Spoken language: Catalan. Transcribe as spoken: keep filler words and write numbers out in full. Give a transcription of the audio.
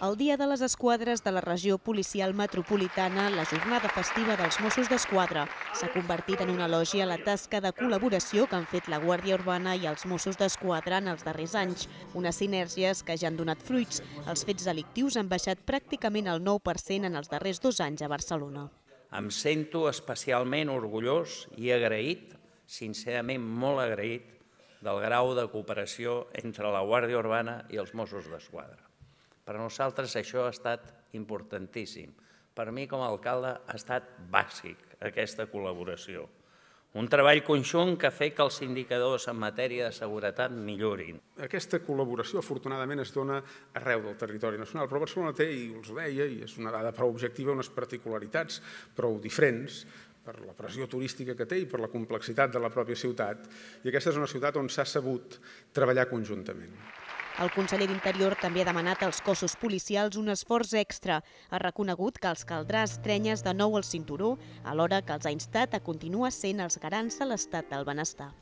El Dia de les Esquadres de la regió policial metropolitana, la jornada festiva dels Mossos d'Esquadra, s'ha convertit en una elogi a la tasca de col·laboració que han fet la Guàrdia Urbana i els Mossos d'Esquadra en els darrers anys. Unes sinergies que ja han donat fruits. Els fets delictius han baixat pràcticament el nou per cent en els darrers dos anys a Barcelona. Em sento especialment orgullós i agraït, sincerament molt agraït, del grau de cooperació entre la Guàrdia Urbana i els Mossos d'Esquadra. Per a nosaltres això ha estat importantíssim. Per mi, com a alcalde, ha estat bàsic aquesta col·laboració. Un treball conjunt que ha fet que els indicadors en matèria de seguretat millorin. Aquesta col·laboració, afortunadament, es dona arreu del territori nacional, però Barcelona té, i us ho deia, i és una dada prou objectiva, unes particularitats prou diferents per la pressió turística que té i per la complexitat de la pròpia ciutat. I aquesta és una ciutat on s'ha sabut treballar conjuntament. El conseller d'Interior també ha demanat als cossos policials un esforç extra. Ha reconegut que els caldrà estrenyes de nou al cinturó, alhora que els ha instat a continuar sent els garants de l'estat del benestar.